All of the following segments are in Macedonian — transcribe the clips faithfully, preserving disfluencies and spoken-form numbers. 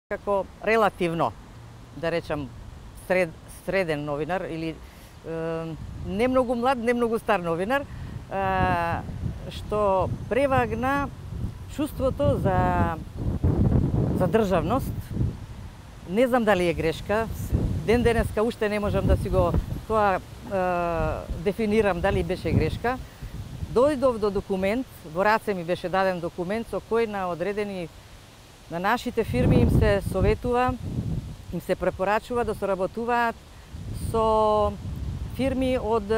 Како релативно, да речам, сред, среден новинар или е, не многу млад, не многу стар новинар, е, што превагна чувството за, за државност. Не знам дали е грешка, ден денеска уште не можам да си го тоа е, дефинирам дали беше грешка. Дојдов до документ, во раце ми беше даден документ со кој на одредени на нашите фирми им се советува, им се препорачува да соработуваат со фирми од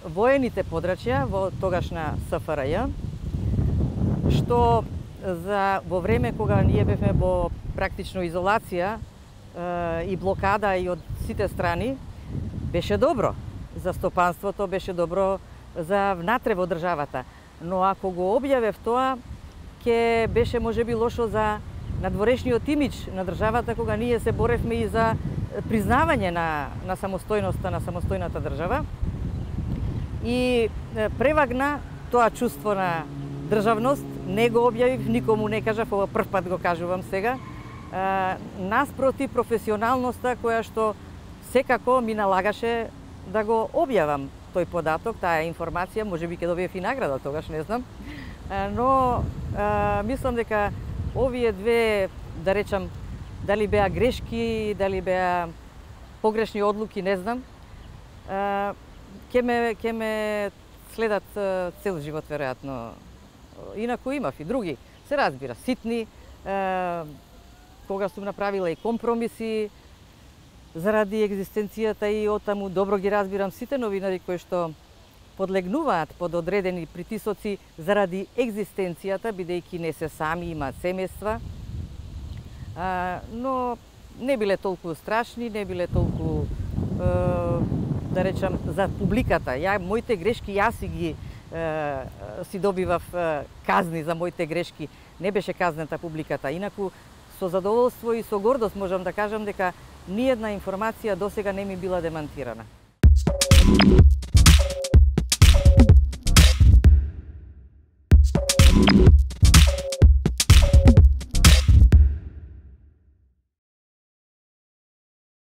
воените подрачја во тогашна С Ф Р Ј, што за во време кога ние бевме во практично изолација е, и блокада и од сите страни, беше добро за стопанството, беше добро за внатре во државата. Но ако го објавев тоа, ке беше можеби лошо за надворешниот имидж на државата, кога ние се боревме и за признавање на, на самостојноста на самостојната држава. И превагна тоа чувство на државност, не го објавив, никому не кажав, ова прв пат го кажувам сега, наспроти професионалноста која што секако ми налагаше да го објавам тој податок, таа информација, можеби ќе добиев и награда тогаш, не знам. Но а, мислам дека овие две, да речам, дали беа грешки, дали беа погрешни одлуки, не знам, а, ке ме, ке ме следат цел живот, веројатно. Инаку имав и други, се разбира, ситни, а, кога сум направила и компромиси заради екзистенцијата и отаму добро ги разбирам сите новинари кои што подлегнуваат под одредени притисоци заради екзистенцијата, бидејќи не се сами, имаат семејства, но не биле толку страшни, не биле толку, да речам, за публиката. Ја, моите грешки, јас си ги си добивав казни за моите грешки, не беше казната публиката. Инаку, со задоволство и со гордост можам да кажам дека ниедна информација досега не ми била демантирана.